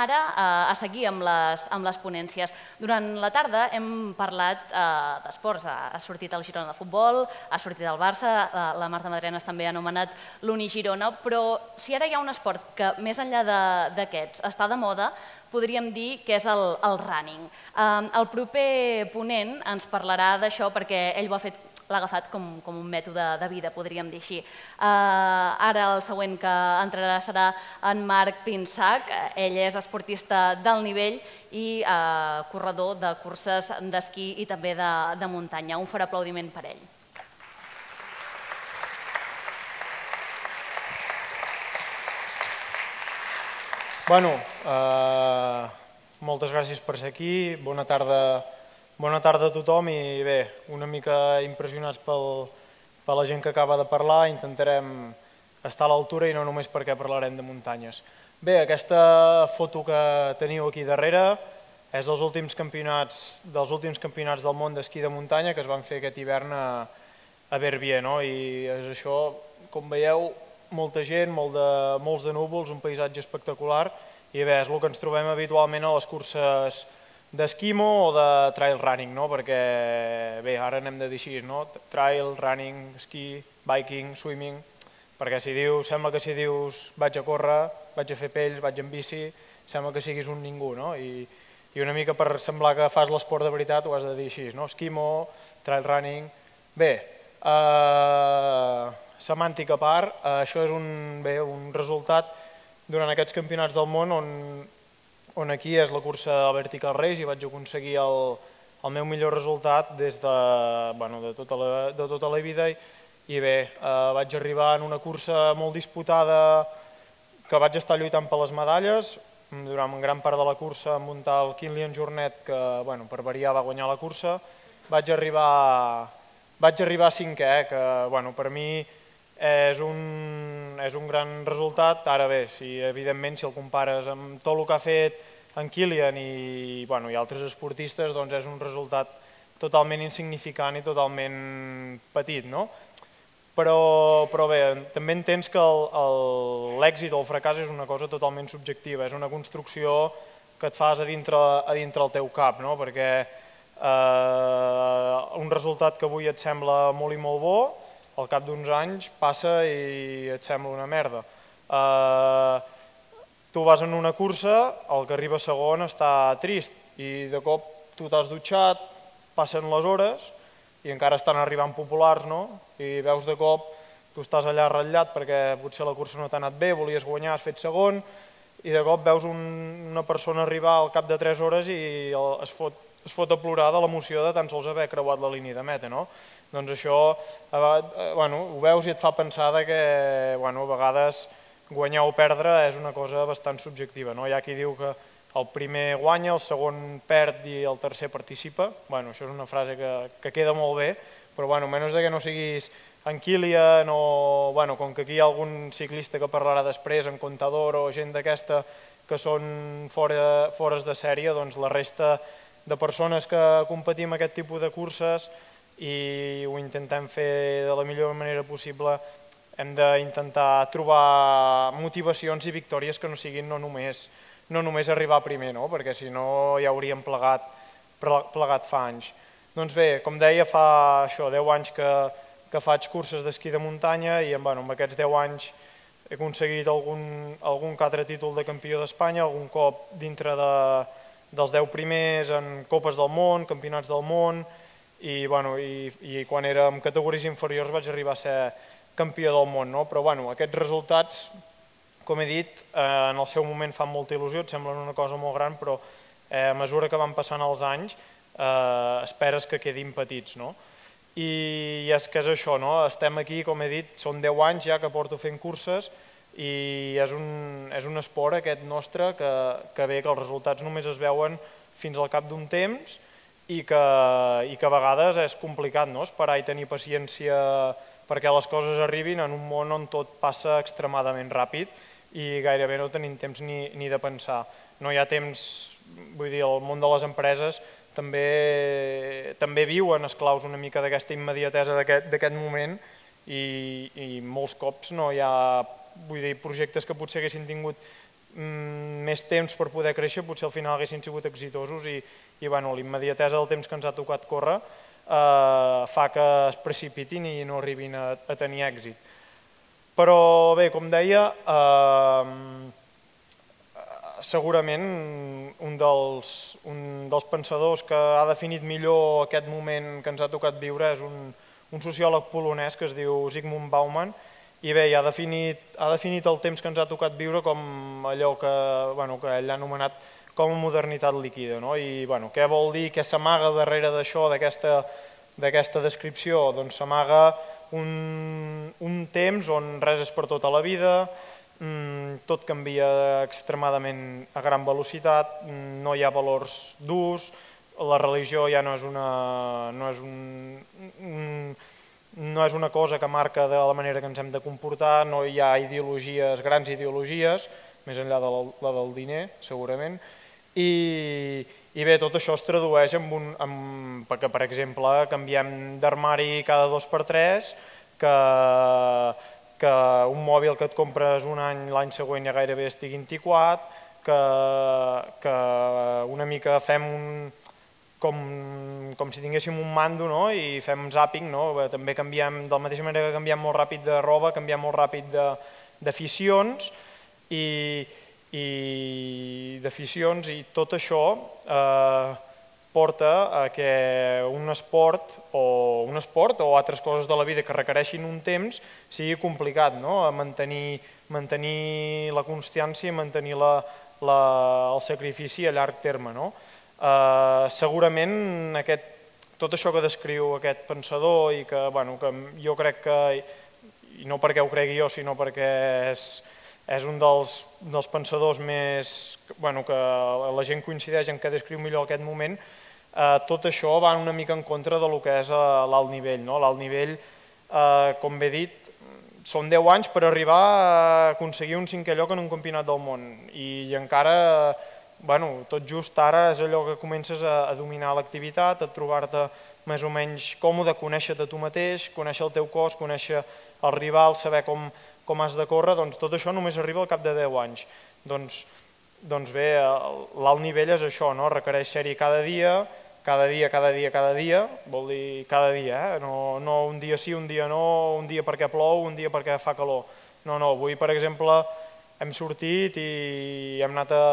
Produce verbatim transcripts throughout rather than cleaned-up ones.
ara a seguir amb les ponències. Durant la tarda hem parlat d'esports. Ha sortit el Girona de futbol, ha sortit el Barça, la Marta Madrenas també ha anomenat l'Uni-Girona, però si ara hi ha un esport que, més enllà d'aquests, està de moda, podríem dir que és el running. El proper ponent ens parlarà d'això perquè ell ho ha fet l'ha agafat com un mètode de vida, podríem dir així. Ara el següent que entrarà serà en Marc Pinsac. Ell és esportista d'alt nivell i corredor de curses d'esquí i també de muntanya. Un fort aplaudiment per ell. Bueno, moltes gràcies per ser aquí. Bona tarda Bona tarda a tothom i bé, una mica impressionats per la gent que acaba de parlar. Intentarem estar a l'altura i no només perquè parlarem de muntanyes. Bé, aquesta foto que teniu aquí darrere és dels últims campionats del món d'esquí de muntanya que es van fer aquest hivern a Verbier. I és això, com veieu, molta gent, molts de núvols, un paisatge espectacular i bé, és el que ens trobem habitualment a les curses d'esquimo o de trail running, perquè bé, ara n'hem de dir així, trail, running, esquí, biking, swimming, perquè si dius, sembla que si dius vaig a córrer, vaig a fer pells, vaig en bici, sembla que siguis un ningú, i una mica per semblar que fas l'esport de veritat ho has de dir així, esquimo, trail running. Bé, semàntica a part, això és un resultat durant aquests campionats del món on on aquí és la cursa del Vertical Race i vaig aconseguir el meu millor resultat des de tota la vida i bé, vaig arribar en una cursa molt disputada que vaig estar lluitant per les medalles. Durant gran part de la cursa em muntar el Kilian Jornet que per variar va guanyar la cursa. Vaig arribar cinquè, que per mi és un gran resultat. Ara bé, evidentment si el compares amb tot el que ha fet en Kilian i altres esportistes, doncs és un resultat totalment insignificant i totalment petit. Però bé, també entens que l'èxit o el fracàs és una cosa totalment subjectiva, és una construcció que et fas a dintre el teu cap, perquè un resultat que avui et sembla molt i molt bo, al cap d'uns anys passa i et sembla una merda. Tu vas en una cursa, el que arriba segon està trist i de cop tu t'has dutxat, passen les hores i encara estan arribant populars i veus de cop, tu estàs allà ratllat perquè potser la cursa no t'ha anat bé, volies guanyar, has fet segon i de cop veus una persona arribar al cap de tres hores i es fot a plorar de l'emoció de tan sols haver creuat la línia de meta. Doncs això ho veus i et fa pensar que a vegades guanyar o perdre és una cosa bastant subjectiva. Hi ha qui diu que el primer guanya, el segon perd i el tercer participa. Això és una frase que queda molt bé, però a menys que no siguis en Kilian o com que aquí hi ha algun ciclista que parlarà després, en Contador o gent d'aquesta que són fores de sèrie, doncs la resta de persones que competim aquest tipus de curses i ho intentem fer de la millor manera possible, hem d'intentar trobar motivacions i victòries que no siguin no només arribar primer, perquè si no ja hauríem plegat fa anys. Doncs bé, com deia, fa deu anys que faig curses d'esquí de muntanya i amb aquests deu anys he aconseguit algun que altre títol de campió d'Espanya, algun cop dintre dels deu primers en copes del món, campionats del món, i quan era en categories inferiors vaig arribar a ser campió del món. Però aquests resultats, com he dit, en el seu moment fan molta il·lusió, et semblen una cosa molt gran, però a mesura que van passant els anys esperes que quedin petits. I és que és això, estem aquí, com he dit, són deu anys ja que porto fent curses i és un esport aquest nostre que bé, que els resultats només es veuen fins al cap d'un temps i que a vegades és complicat esperar i tenir paciència perquè les coses arribin en un món on tot passa extremadament ràpid i gairebé no tenim temps ni de pensar. No hi ha temps, vull dir, el món de les empreses també viuen esclaus una mica d'aquesta immediatesa d'aquest moment i molts cops no hi ha projectes que potser haguessin tingut més temps per poder créixer, potser al final haguessin sigut exitosos i, i bueno, l'immediatesa del temps que ens ha tocat córrer eh, fa que es precipitin i no arribin a, a tenir èxit. Però bé, com deia, eh, segurament un dels, un dels pensadors que ha definit millor aquest moment que ens ha tocat viure és un, un sociòleg polonès que es diu Zygmunt Bauman, i bé, ha definit, ha definit el temps que ens ha tocat viure com allò que, bueno, que ell ha anomenat com a modernitat líquida. No? I bueno, què vol dir, què s'amaga darrere d'això, d'aquesta descripció? Doncs s'amaga un, un temps on res és per tota la vida, tot canvia extremadament a gran velocitat, no hi ha valors durs, la religió ja no és una, no és un, no és una cosa que marca de la manera que ens hem de comportar, no hi ha ideologies, grans ideologies, més enllà de la del diner, segurament, i, i bé, tot això es tradueix en un, en, perquè, per exemple, canviem d'armari cada dos per tres, que que un mòbil que et compres un any, l'any següent ja gairebé estigui antiquat, que, que una mica fem un, com, com si tinguéssim un mando, no? I fem zàping, no? També canviem, de la mateixa manera que canviem molt ràpid de roba, canviem molt ràpid d'aficions i, i d'aficions i tot això eh, porta a que un esport o un esport o altres coses de la vida que requereixin un temps sigui complicat, no? A mantenir, mantenir la constància i mantenir la, la, el sacrifici a llarg terme. No? Eh, segurament aquest, tot això que descriu aquest pensador i que, bueno, que jo crec que, i no perquè ho cregui jo, sinó perquè és, és un dels, dels pensadors més, bueno, que la gent coincideix en què descriu millor aquest moment, eh, tot això va una mica en contra del que és l'alt nivell. No? L'alt nivell, eh, com bé dit, són deu anys per arribar a aconseguir un cinquè lloc en un campionat del món i encara, bueno, tot just ara és allò que comences a, a dominar l'activitat, a trobar-te més o menys còmode, conèixer-te tu mateix, conèixer el teu cos, conèixer el rival, saber com, com has de córrer, doncs tot això només arriba al cap de deu anys. Doncs, doncs bé, l'alt nivell és això, no? Requereix ser-hi cada dia, cada dia, cada dia, cada dia, vol dir cada dia, eh? no, no un dia sí, un dia no, un dia perquè plou, un dia perquè fa calor. No, no, avui, per exemple, hem sortit i hem anat a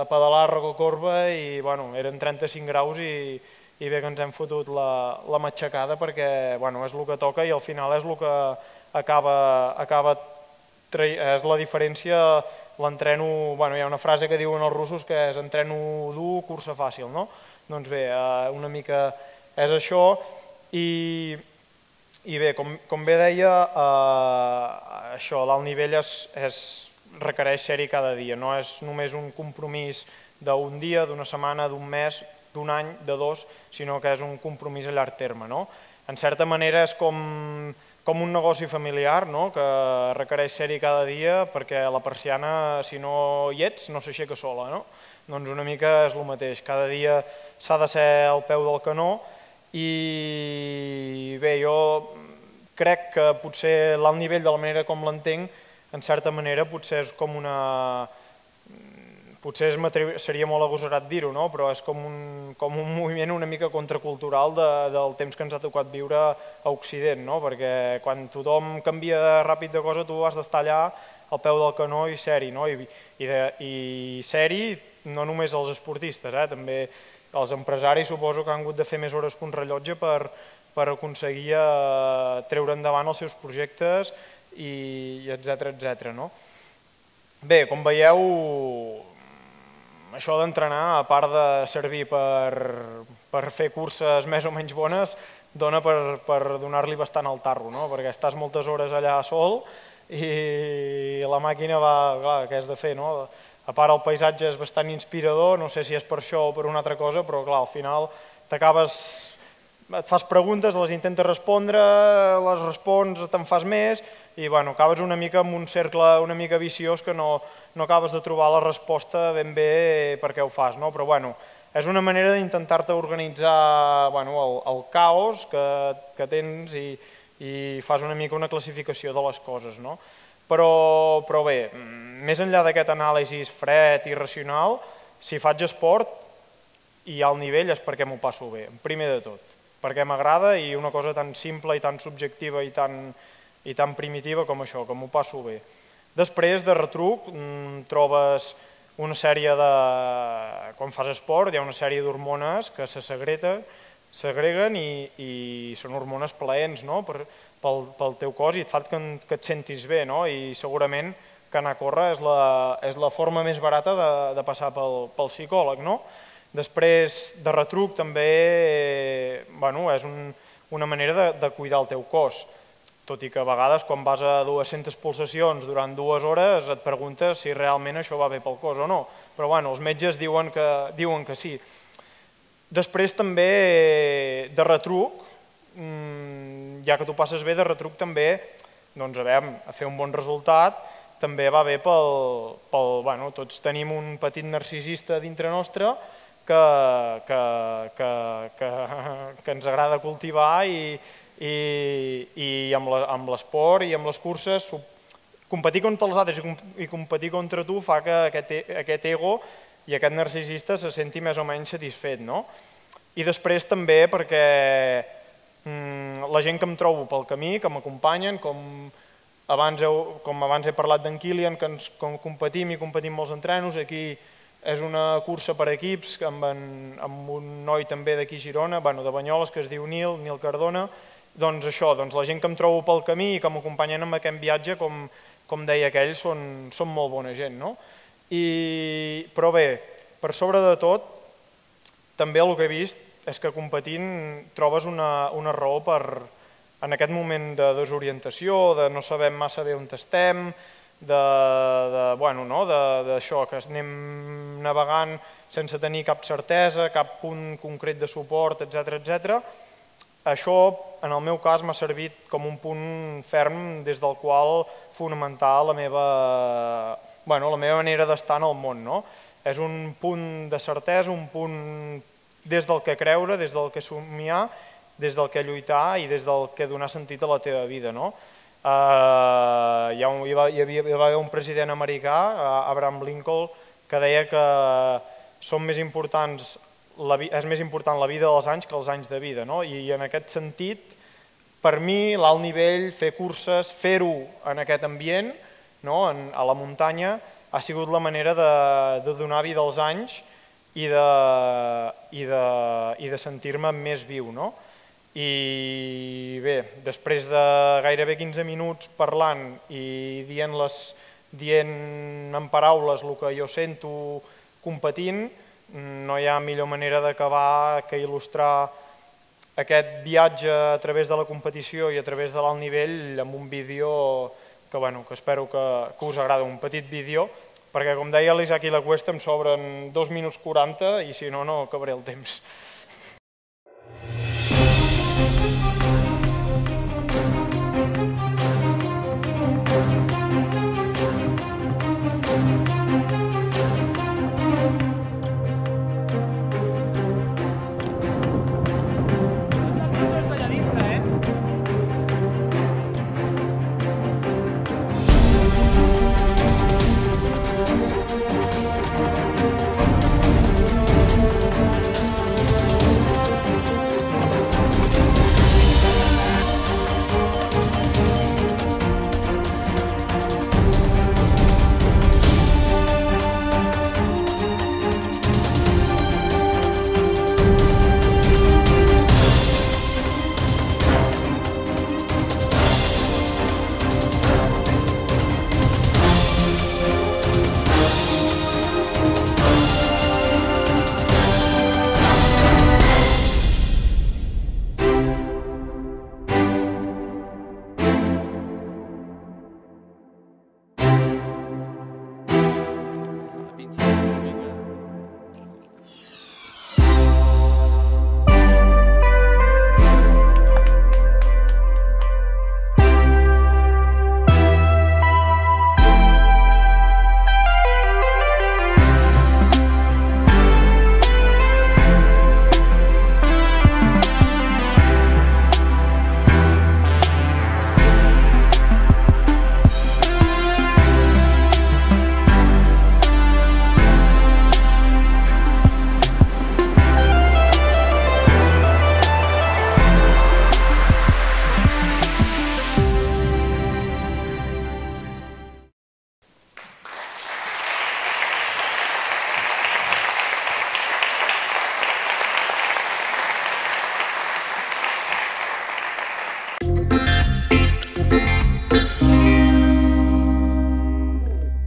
pedalar a Rocacorba i, bueno, eren trenta-cinc graus i, i bé que ens hem fotut la, la matxacada perquè, bueno, és el que toca i al final és el que acaba, acaba és la diferència, l'entreno, bueno, hi ha una frase que diuen els russos que és entreno dur, cursa fàcil, no? Doncs bé, una mica és això i, i bé, com, com bé deia, eh, això, l'alt nivell és, és, requereix ser-hi cada dia, no és només un compromís d'un dia, d'una setmana, d'un mes, d'un any, de dos, sinó que és un compromís a llarg terme. No? En certa manera és com, com un negoci familiar, no? Que requereix ser-hi cada dia perquè la persiana, si no hi ets, no s'aixeca sola. No? Doncs una mica és el mateix, cada dia s'ha de ser al peu del canó i bé, jo crec que potser l'alt nivell de la manera com l'entenc, en certa manera potser és com una... potser seria molt agosarat dir-ho, no? Però és com un, com un moviment una mica contracultural de, del temps que ens ha tocat viure a Occident, no? Perquè quan tothom canvia ràpid de cosa tu has d'estar allà al peu del canó i ser-hi, no? I, i, i ser-hi no només els esportistes, eh? També els empresaris suposo que han hagut de fer més hores que un rellotge per, per aconseguir eh, treure endavant els seus projectes i etcètera, etcètera. No? Bé, com veieu, això d'entrenar, a part de servir per, per fer curses més o menys bones, dona per, per donar-li bastant al tarro, no? Perquè estàs moltes hores allà sol i la màquina va, clar, què has de fer, no? A part el paisatge és bastant inspirador, no sé si és per això o per una altra cosa, però clar, al final t'acabes, et fas preguntes, les intentes respondre, les respons, te'n fas més i bueno, acabes una mica en un cercle una mica viciós que no, no acabes de trobar la resposta ben bé per què ho fas, no? Però bueno, és una manera d'intentar-te organitzar bueno, el, el caos que, que tens i, i fas una mica una classificació de les coses, no? Però, però bé, més enllà d'aquest anàlisi fred i racional, si faig esport i al nivell és perquè m'ho passo bé, primer de tot, perquè m'agrada i una cosa tan simple i tan subjectiva i tan, i tan primitiva com això, que m'ho passo bé. Després, de retruc, trobes una sèrie de... Quan fas esport hi ha una sèrie d'hormones que se segreten, segreguen i, i són hormones plaents, no? per, pel, pel teu cos i et fa que, que et sentis bé, no? I segurament que anar a córrer és la, és la forma més barata de, de passar pel, pel psicòleg, no? Després, de retruc, també eh, bueno, és un, una manera de, de cuidar el teu cos, tot i que a vegades quan vas a dues-centes pulsacions durant dues hores et preguntes si realment això va bé pel cos o no, però bueno, els metges diuen que, diuen que sí. Després també, de retruc, ja que tu passes bé, de retruc també, doncs a veure, a fer un bon resultat, també va bé pel... pel bueno, tots tenim un petit narcisista dintre nostre que, que, que, que, que ens agrada cultivar i, i, i amb l'esport i amb les curses competir contra els altres i competir contra tu fa que aquest, aquest ego i aquest narcisista se senti més o menys satisfet, no? I després també perquè mm, la gent que em trobo pel camí, que m'acompanyen, com, abans heu, com abans he parlat d'en Kilian, que ens com competim i competim molts entrenos, aquí és una cursa per equips amb, en, amb un noi també d'aquí a Girona, bueno, de Banyoles, que es diu Nil, Nil Cardona, doncs això, doncs la gent que em trobo pel camí i que m'acompanyen en aquest viatge, com, com deia aquell, són, són molt bona gent, no? I, però bé, per sobre de tot, també el que he vist és que competint trobes una, una raó per, en aquest moment de desorientació, de no saber massa bé on estem, de, de, bueno, no, d'això, que anem navegant sense tenir cap certesa, cap punt concret de suport, etcètera, etcètera. Això, en el meu cas, m'ha servit com un punt ferm des del qual fonamentar la meva, bueno, la meva manera d'estar en el món, no? És un punt de certesa, un punt des del que creure, des del que somiar, des del que lluitar i des del que donar sentit a la teva vida, no? Uh, hi, ha un, hi, va, hi, havia, hi va haver un president americà, uh, Abraham Lincoln, que deia que són més importants, la, és més important la vida dels anys que els anys de vida, no? I, i en aquest sentit, per mi, l'alt nivell, fer curses, fer-ho en aquest ambient, no? en, a la muntanya, ha sigut la manera de, de donar vida als anys i de, i de, i de sentir-me més viu, no? I bé, després de gairebé quinze minuts parlant i dient-les, dient en paraules el que jo sento competint, no hi ha millor manera d'acabar que il·lustrar aquest viatge a través de la competició i a través de l'alt nivell amb un vídeo que, bueno, que espero que, que us agrada, un petit vídeo, perquè com deia l'Isaac i la Cuesta em sobren dos minuts quaranta i si no, no acabaré el temps.